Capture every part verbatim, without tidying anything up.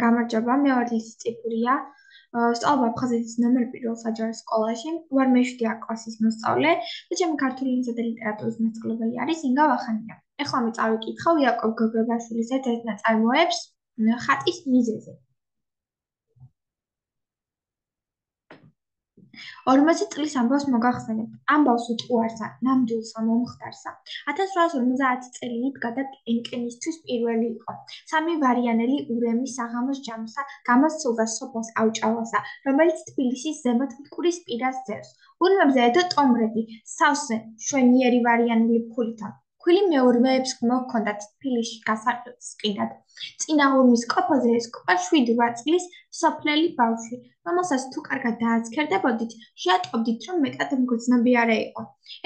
გამარჯობა, მე ვარ ლიზი წიფურია. სწავლობ აფხაზეთის ნომერ პირველ საჯარო სკოლაში. ვარ მეშვიდე კლასის მოსწავლე და ჩემი ქართული ენისა და ლიტერატურის მასწავლებელი არის ინგა ვახანია. ეხლა მე წავიკითხავ იაკობ გოგებაშვილის ერთ-ერთ ნაწარმოებს ხატის მიზეზი. ორმოცი წლის ამბავს მოგახსენებთ. ამბავს უტყუარსა, ნამდვილსა, მომხდარსა. ათას რვაას ორმოცდაათი წელი იდგა და ენკენისთვის პირველი იყო. სამი ვარიანელი ურემი საღამოს ჯამსა, გამოსცილდა სოფელს აუჭალასა, რომელიც თბილისის ზემოთ მტკვრის პირას ძევს. ურმებზე ედო ტომრები, სავსე, შვენიერი ვარიანელი ფულითა. ქვილი მეურვეებს მოჰქონდათ თბილისში გასაყიდად. წინა ურმის ყოფაზე ესკუპა შვიდი რვა წლის სოფლელი ბავშვი, რომელსაც თუ კარგად დააცქერდებოდით, შეატყობდით, რომ მეტად მგრძნობი არა იყო.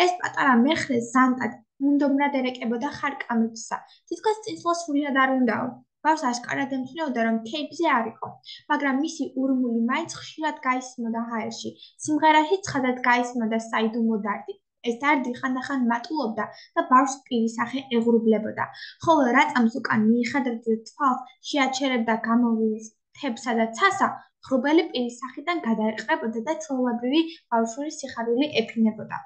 ეს პატარა მეხრე ზანტად, მუნდომრად ერეკებოდა ხარკამებსა. თითქოს წინსვლა სრულად არ უნდაო. ბავშვს ашკარად ემთნეოდა, რომ ქეიფზე არ იყო, მაგრამ მისი ურმული მაინც ხშირად გაისმოდა ჰაერში. სიმღერაში ცხადად გაისმოდა საიდუმლო დარდი. ეს დარდი ხანდახან მატულობდა და ბავშვს პირისახე ეღრუბლებოდა, ხოლო რატამს უკან მიიხადრებდა თვალს, შეაჩერებდა გამოვლენილ თებსა და ცასა, ღრუბელი პირისახიდან გადაეყრებოდა და ჩვეულებრივი ბავშვური სიხარული ეფინებოდა.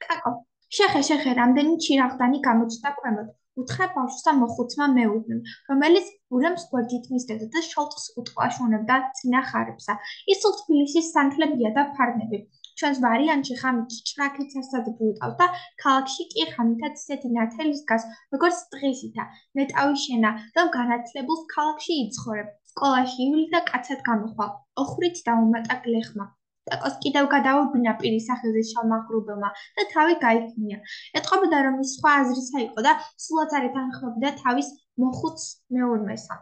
კაკო, შეხე, შეხე, რამდენი ჩირაღდანი გამოჩნდა ქვემოთ, უთხრა ბავშვს მოხუცმა მეუღლემ, რომელიც ურემს გვერდით მისდევდა და შოლტს უტყუაშუნებდა წინა ხარებსა. ის სულ თბილისის სანთლებია და ფარნები. ჩვენს ვარიანტში ღამით ჭრაქიც არსად ბრუტავს და ქალაქში კი ღამითაც ისეთი ნათელი დგას, როგორც დღისითა. ნეტავი შენა, რომ განათლებულს ქალაქში იცხოვრებ. სკოლაში ივლი და კაცად გამოხვალ. ოხრით დაუმატა გლეხმა. კაკოს კიდევ გადაურბინა პირის სახელზე შალმაღრუბელმა და თავი გაიქნია. ეტყობოდა, რომ ის სხვა აზრისა იყო და სულაც არ ეთანხმებოდა თავის მოხუც მეურვესა.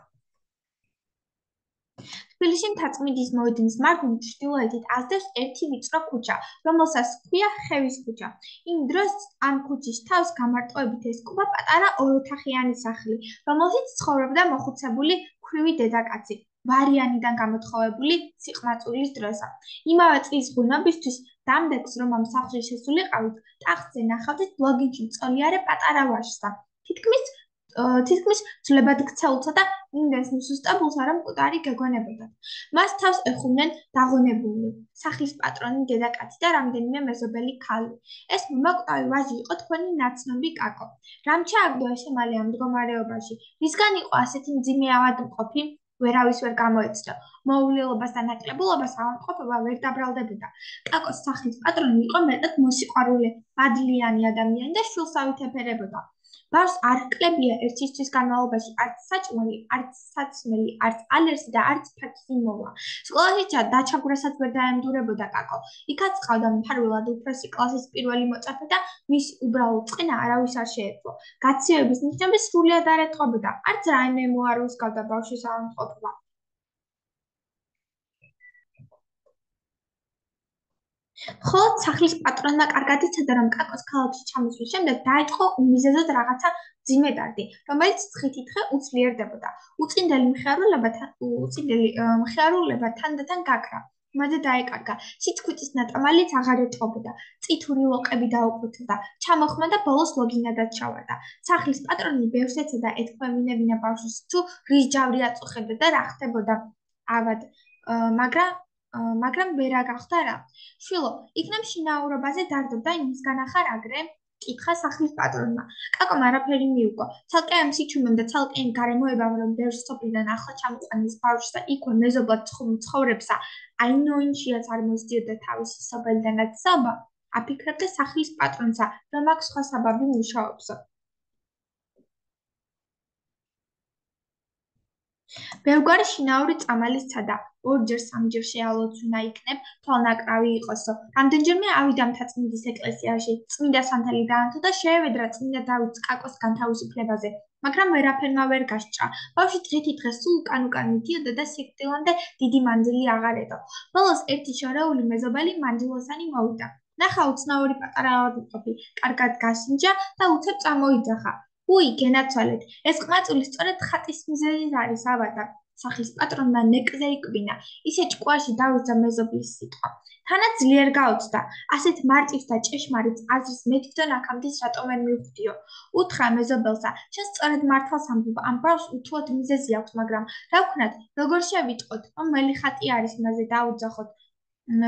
თბილისში მთაწმინდის მოედნის მარჯვნივ ჩრდილოეთით ազდევს ერთი ვიწრო ქუჩა, რომელსაც ჰქვია ხევის ქუჩა. იმ დროს ამ ქუჩის თავს გამარტოებით ესკუვა პატარა ოროთახიანი სახლი, რომელშიც ცხოვრობდა მოხუცებული ქვრივი დედაკაცი, ვარიანიდან გამოთხოვებული სიყმაწვილის დროსა. იმავე წლის ღვინობისთვის დამდეგს, რომ ამ სახლში შესულიყავით, ტახტზე ნახავდით ბლოგინში მწოლიარე პატარა ვაჟსა. თითქმის თითქმის ძვლებად ქცეულსა და იმდენს მსუსტებულსა, რომ მკვდარი გეგონებოდათ. მას თავს ეხումდნენ დაღონებული სახლის პატრონი დედაკაცი და რამდენიმე მეზობელი ქალი. ეს მომაკვდავი ვაჟი იყო თქვენი ნაცნობი კაკო. რამ ჩააგდო ესემალე ამ მდგომარეობაში? რისგან იყო ასეთი მძიმე ავადმყოფი? ვერავის ვერ გამოეცნო. მოულილობას და ნაკლებულობას ავადმყოფობა ვერ დაბრალდებოდა. კაკოს სახლის პატრონი იყო მეტად მოსიყვარული, მადლიანი ადამიანი და შვილს ავითეფერებოდა. ბავშვს არ ჰკლებია ერთის თვის განმავლობაში არც საჭმელი, არც საცმელი, არც ალერსი და არც ფაქიზი მოვა. სკოლაში დაჩაგვრასაც ვერ დაემდურებოდა კაკო. იქაც ყავდა მფარველად უფროსი კლასის პირველი მოწაფე და მისი უბრალო წყინა არავის არ შეეძლო. გაციოების ნიშნები სრულიად არ ეტყობოდა, არც რაიმე მოარ უსგავდა ბავშვის ავადმყოფობა. ხოლო სახლის პატრონმა კარგად იცოდა, რომ კაკოს ქალაქში ჩამოსვლის შემდეგ დაიწყო უმიზეზოდ რაღაცა მძიმე დარდი, რომელიც დღითიდღე უძლიერდებოდა. უწინდელი მხიარულება უწინდელი მხიარულება თანდათან გაქრა. მალე დაეკარგა. სიტყვიტის ნატამალიც აღარ ეტყობოდა. წითური ლოყები დაუყვითდა. ჩამოხმა და ბოლოს ლოგინადაც ჩავარდა. სახლის პატრონი ბევრს ეცოდა ეთქვევინებინა ბავშვს თუ რის ჯავრი აწუხებდა და რა ხდებოდა ავად, მაგრამ მაგრამ ვერა გახდა რა. შვილო, იქნებ შინაურობაზე დარდობდა იმისგან ახარ აგრე? კითხა სახლის პატრონმა. კაკომ არაფერი მიუგო. ცალკე ამ სიჩუმემ და ცალკე იმ გარემოებამ, რომ ბევრ სოფლიდან ახლა ჩამოყვანის ბავშვს და იქვე მეზობლად ცხოვრებსა, აინოინშიაც არ მოსდიოდა თავისი სოფელი და ნათესაობა, აფიქრებდა სახლის პატრონსა, რომ აქ სხვა საბაბი მუშაობსო. ბევრგვარი შინაური წამალი სცადა. ორჯერ სამჯერ შეალოც უნდა იქნებ, თვალნაკრავი იყოსო. რამდენჯერმე ავიდა მთაწმინდის ეკლესიაში, წმინდა სანთელი დაანთო და შეევედრა წმინდა დავითს კაკოს განთავისუფლებაზე, მაგრამ ვერაფერმა ვერ გასჭრა. ბავშვი დღითიდღე სულ უკან-უკან მიდიოდა და სიკვდილამდე დიდი მანძილი აღარ ედო. ბოლოს ერთი შორეული მეზობელი მანძილოსანი მოვიდა. ნახა უცნაური პატარა ავადმყოფი, კარგად გასინჯა და უცებ წამოიძახა. უი, გენაცვალეთ, ეს ყმაწვილი სწორედ ხატის მიზეზით არის ავადა. სახლის პატრონმა ნეკზე იკბინა. ისე ჭკუაში დავიძა მეზობლის სიტყვა. თანაც ძლიერ გაუცდა. ასეთ მარტივს და ჭეშმარიტ აზრს მე თვითონ აქამდე რატომ ვერ მივხვდიო. უთხრა მეზობელსა, შენ სწორედ მართალს ამბობ, ამ ბავშვს უთუოდ მიზეზი აქვს, მაგრამ რა ვქნათ, როგორ შევიტყოთ, რომ მელი ხატი არის მასზე დაუძახოთ.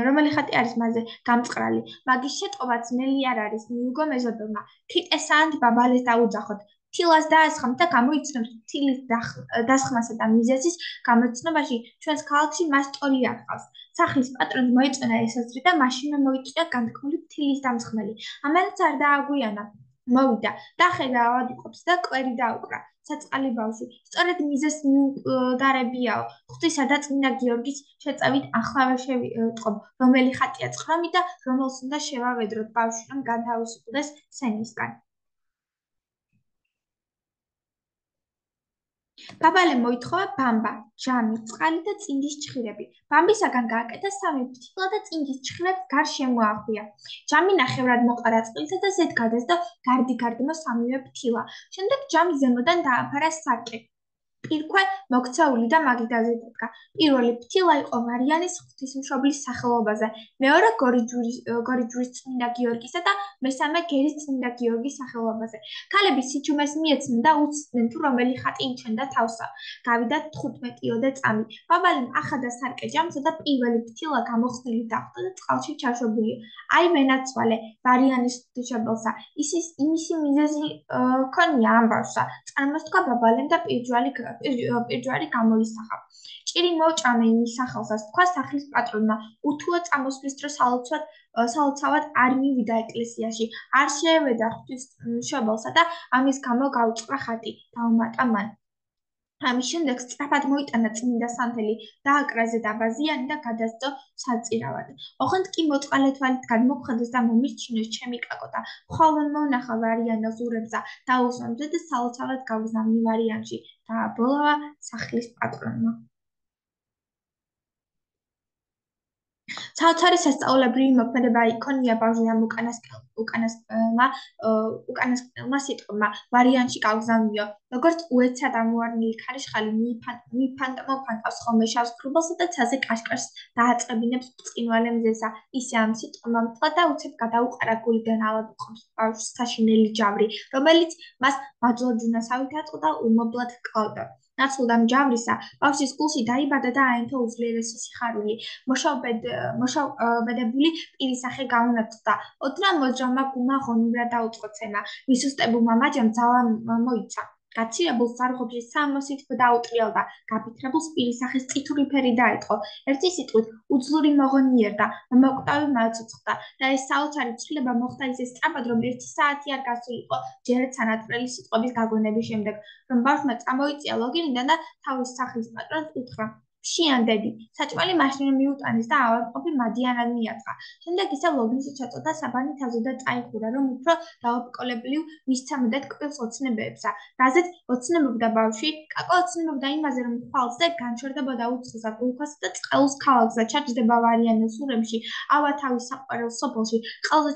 რომელი ხატი არის მასზე გამწყრალი. მაგის შეტყობაც ნელი არ არის, მიუგო მეზობელმა. თიტესაანთ ბაბალეს დაუძახოთ. თილას დაესხამთ და გამოიცნოთ თილის დასხმასა და მიზეზის გამოცნობაში ჩვენს ქალაქში მას სტორი აღყავს. სახლის პატრონს მოეწონა ესაზრი და მაშინვე მოიწვია განთქმული თილის დამსხმელი. ამანაც არ დააგვიანა. მოვიდა, დახედა ავადმყოფს და კვერი დაუკრა. საწყალი ბავშვი, სწორედ მიზეს მიუყდარებიაო. ღვთისა და წმინდა გიორგის შეწევით ახლავე შევიტყობ, რომელი ხატია წხრომი და რომელს უნდა შევავედროთ ბავშვი, რომ განთავისუფლდეს სენისგან. ბაბალემ მოითხოვა ბამბა, ჯამი, წყალი და წინდის ჩხირები. ბამბისაგან გააკეთა სამი ფრთილა და წინდის ჩხირებს გარს შემოახვია. ჯამი ნახევრად მოყარა წყლისა და ზედ გადასდა გარდი-გარდმო სამივე ფრთილა. შემდეგ ჯამი ზემოდან დააფარა სარკე. პირქვე მოქცეული და მაგიდაზე დადგა. პირველი ფრთილა იყო მარიანის ღვთისმშობლის სახელობაზე, მეორე გორიჯვრის წმინდა გიორგისა და მესამე გერის წმინდა გიორგის სახელობაზე. ქალები სიჩუმეს მიეცნენ და უცდნენ თუ რომელი ხატი იჩენდა თავსა. გავიდა თხუთმეტიოდე წამი. ბაბალემ ახადა სარკე ჯამსა და პირველი ფრთილა გამოხსნილი დახვდა და წყალში ჩაშვებული. აი ვენაცვალე, მარიანის ღვთისმშობელსა, იმისი მიზეზი ჰქონია ამ ბავშვსა. წარმოსთქვა ბაბალემ და პირჯვარი პირჯვარი გამოისახა. ჭირი მოჭამე იმის სახელსაც, თქვა სახლის პატრონმა, უთუო წამოსვლის დრო სალოცავად არ მივიდა ეკლესიაში, არ შეევედა ღვთისმშობელსა და ამის გამო გაუწყდა ხატი, დაუმატა მან. ამის შემდეგ სწრაფად მოიტანა წმინდა სანთელი, დააკრა ზედაბაზიანი და გადასწო საწირავად. ოღონდ კი მოწყალე თვალით გადმოგვხდეს და მომირჩინოს ჩემი კაკო და მხოლოდ მოვნახა ვარიანოს ურებსა, დაუსვამზე და სალოცავად გავზნა მივარიანში, დააბოლოვა სახლის პატრონმა. საოცარი სასწაულებრივი მოქმედება იქონია ბავშვი ამ უკანასკნელმა სიტყვმა ვარიანში გავგზავნიო. როგორც უეცრად ამოვარნილი ქარიშხალი მიფანტმოფანტავს ხოლმე შავს ქრუბელსა და ცაზე კაშკაშს დააწყებინებს ბრწყინვალე მზესა, ისე ამ სიტყვმა მთლა და უცებ გადაუყარა გულიდან ავადმყოფს ბავშვს საშინელი ჯავრი, რომელიც მას მაძლოჯუნასავით აწყდა და უმოვლად ჰკლავდა. ნაცვლად ამ ჯავრისა, ბავშვის გულში დაიბადა და აენთო უძლიერესი სიხარული. მოშავბედებული პირისახე გაუნათლდა. ოდნავ მოძრავმა გულმა ღონივრად დაუწყო ცემა. მისუსტებულმა მაჯამ ძალა მოიცა. გაცირებულს ზარღობში სამოსით დაუტრიალდა. გაფიქრებულს პირისახეს წითური ფერი დაეწყო. ერთი სიტყვით უძლური მოღონიერდა, მომოკვდავი მაცოცხლდა და ეს საოცარი ცვლილება მოხდა ისე სწრაფად, რომ ერთი საათი არ გასულიყო ჯერ სანატრელი სიტყვების გაგონების შემდეგ, რომ ბავშვმა წამოიწია ლოგინიდან და თავის სახლის პატრონს უთხრა: "ფშიან დედი, საჭმელი მაშინ მიუტანეს და ავადმყოფი მადიანად მიაწყა." შემდეგ ისევ ლოგინში ჩაწოდა საბანი თავზე და წაიხურა, რომ უფრო დაუბრკოლებლივ მისცა მუდად კბილს ოცნებებსა. რაზეც ოცნებობდა ბავშვი, კაკო ოცნებობდა იმაზე, რომ ხვალზე განჩერდებოდა უცხოსა გულქვასა და წყელს ქალაქსა ჩაჯდება ვარიანოს ურემში, ავა თავის საყვარელ სოფელში, ყელზე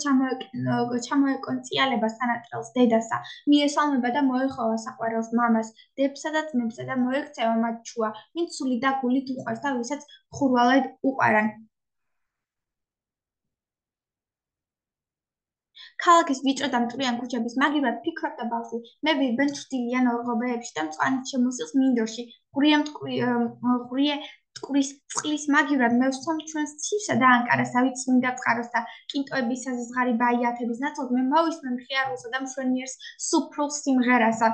ჩამოეკონწიალება სანატრელს დედასა, მიესალმება და მოეხოვა საყვარელს მამას, დებსა და ძმებსა და მოექცევა მათ ჩუა, ვინც სული და გულით უყვარს და ვისაც მხურვალედ უყარან. ქალაქის ვიწრო და მტვრიან ქუჩების მაგივრად ფიქრობდა ბავშვი, მე ვირბენ ჩრდილიან ორღობეებში და მწვანით შემოსილს მინდორში, ღურიე მტკვრის წყლის მაგივრად მე ვსვამ ჩვენს ცივსა და ანკარას, ავით წმინდა წყაროს და კინტოებისა ზღარი ბაიათების ნაცვლად მე მოვისმენ მხიარულსა და მშვენიერს სუფრულ სიმღერასა,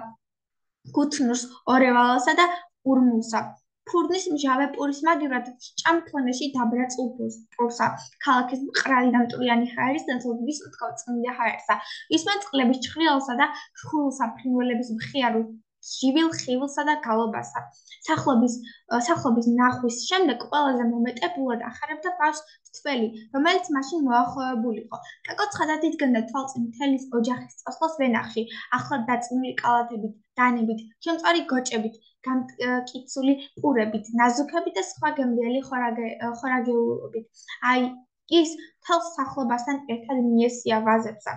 გუთნურს ორევალსა და ურმულსა. ფურნის მჟავე პურის მაგივრად ჭამქონეში დაბრაწულ პურსა, ქალაქის მყრალი და მტვრიანი ჰაერის ნაცვლად ვისმთქვა წმინდა ჰაერსა, ვისმენ წყლების ჩხრილსა და შხულსა, ფრინველების მხიარულ ჟივილ ხივილსა და გალობასა. სახლობის ნახვის შემდეგ ყველაზე მომეტებულად ახარებდა ბავშვს თველი, რომელიც მაშინ მოახლოებულიყო. კაკო ცხადად იდგენდა თვალწინ მთელის ოჯახის წასვლას ვენახში, ახლად დაწნული კალათებით, დანებით, შემწვარი გოჭებით, გამკიცული პურებით, ნაზუქებით და სხვა გემრიელი ხორაგეულობით. აი, ის თელს სახლობასთან ერთად მიესია ვაზებსა.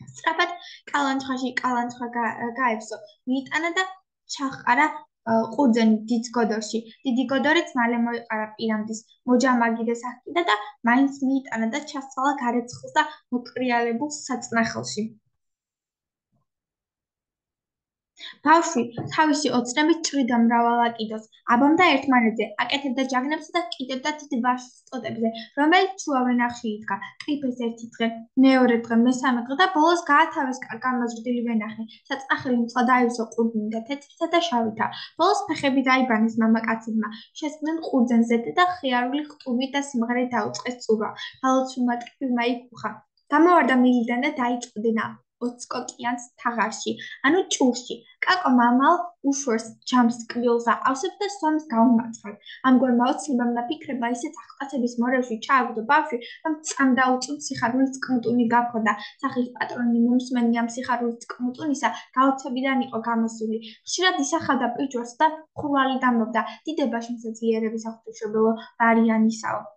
სწრაფად კალანჩხაში კალანჩხა გაებსო, მიიტანა და ჩაჰყარა ყურძენი დიდ გოდორში. დიდი გოდორიც მალე მოიყარა პირამდის მოჯამაგი და სახკიდა და მაინც მიიტანა და ჩასცვალა გარეცხილს და მოტრიალებულ საწნახელში. ბავშვი თავისი ოცნებით ჭრიდა მრავალ აკიდოს, აბამდა ერთმანეთზე, აკეთებდა ჯაგნებსა და კიდებდა დიდ ვაშლს ტოტებზე, რომელიც შუავენახში იდგა. ყიფეს ერთი დღე, მეორე დღე, მესამე დღე და ბოლოს გაათავეს გამაზრდილი ვენახი. საწნახელი მთლა დაივსო ყურძნითა, თეთრითა და შავითა. ბოლოს ფეხები დაიბანეს მამაკაცებმა, შესხდნენ ყურძენზე და ხიარული ხტუნით და სიმღერით დაუწყეს წურვა. გალოცულმა ტკბილმა იქუხა. გამოვარდა მილიდან და დაიწყდნა ოცკოკიანს თაღარში, ანუ ჭურში. კაკო მამალ უშორს ჯამს ტკბილს აყავსებს და სვამს გაუმარცხად. ამგვარმა ოცნებამ და ფიქრებმა ისეთ აღტაცების მორევში ჩააგდო ბავშვი, რომ წამ დაუწუნ სიხარულის წყმუტუნი გაფხოდა. სახლის პატრონი მომსმენი ამ სიხარულის წყმუტუნისა გაოცებიდან იყო გამოსული. ხშირად ისახავდა პირჯვარს და ხურვალი დამნობდა. დიდებაში მსაძლიერების აღთუშებელო ვარიანისაო.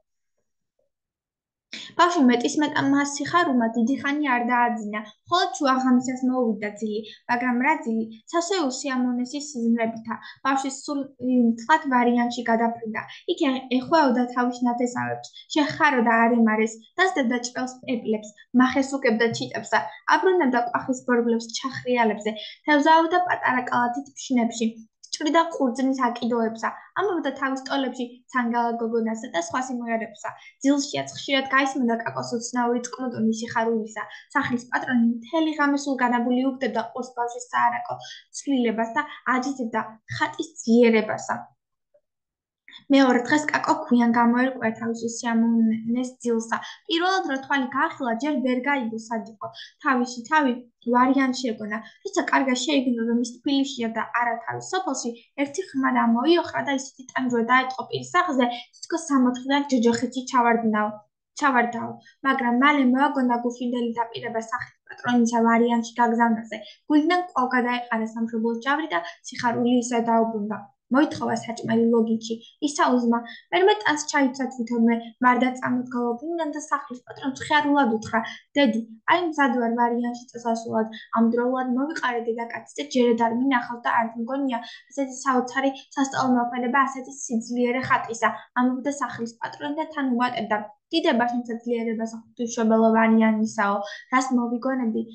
ბავშვი მეტისმეტ ამას სიხარულმა დიდი ხანი არ დააძინა, მხოლოდ შუაღამისას მოუვიდა ძილი, მაგრამ რა ძილი, სასეულ სიამოვნესის სიზმრებითა. ბავშვი სული მწყად ვარიანში გადაფრინდა. იქ ეხვეოდა თავის ნათესავებს, შეხაროდა არემარეს, დასდებდა ჭრელს პეპლებს, მახეს უკებდა ჩიტებსა, აბრუნებდა კვახის ბორბლებს ჩახრიალებზე, თევზაობდა პატარა კალათით ფშნებში. ჭრიდა ყურძნის აკიდოებსა, ამბობდა თავის ტოლებში ცანგალა გოგონასა და სხვა სიმღერებსა. ძილშიაც ხშირად გაისმოდა კაკოს ოცნაური წყმუტუნი სიხარულისა. სახლის პატრონი მთელი ღამე სულ განაბული უგდებდა ყურს ბავშვის საარაკო ცვლილებას და აჯიძებდა ხატის ძლიერებასა. მეორე დღეს კაკო ქვიან გამოერკვია თავისი სიამოვნეს ძილსა. პირველად რო თვალი გაახილა, ჯერ ვერ გაიგო სად იყო. თავისი თავი ვარიანში ეგონა. როცა კარგად შეიგნო, რომ ის თბილისშია და არა თავის სოფელში, ერთი ხმა დამოიოხრა და ისეთი ტანჯვა დაეწყო პირის სახზე, თითქოს სამოთხიდან ჯოჯოხეთში ჩავარდნაო. ჩავარდაო, მაგრამ მალე მოაგონდა გუშინდელი დაპირება სახლის პატრონისა ვარიანში გაგზავნაზე. გულიდან კვლავ გადაეყარა სამშობლოს ჯავრი და სიხარული ისე დაუბრუნდა. მოითხოვა საჭმელი ლოგინში. ისაუზმა, მერმე ტანს ჩაიცვა თვითონვე, მარდა წამოდგა ლოგინიდან და სახლის პატრონს ხიარულად უთხრა: დედი, აი მზად ვარ ვარიანში წასასვლელად, ამდროულად მოვიყარე დედაკაცს და ჯერად არ მინახავს და არ მგონია ასეთი საოცარი სასწავლო მოქმედება ასეთი სიძლიერე ხატისა. ამბობდა სახლის პატრონი და თან უმატებდა: დიდებაში მსაძლიერებას ღვთისმშობელო ვარიანისაო, რას მოვიგონებდი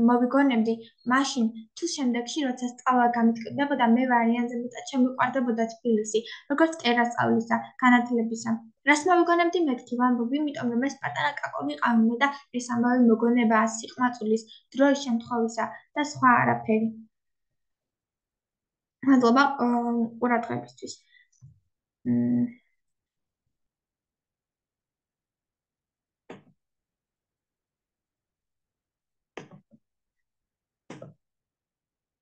მოვიგონებდი მაშინ თუ შემდეგში როცა სწავლა გამიტკბებოდა მე ვარიანზე მეტად შემიყვარდებოდა თბილისი როგორც ტერასწავლისა განათლებისა რას მოვიგონებდი მეთქი ვამბობ იმიტომ რომ ეს პატარა კაკო ვიყავი და ეს ამავე მოგონებაა სიყმაწვილის დროის შემთხვევისა და სხვა არაფერი მადლობა ყურადღებისთვის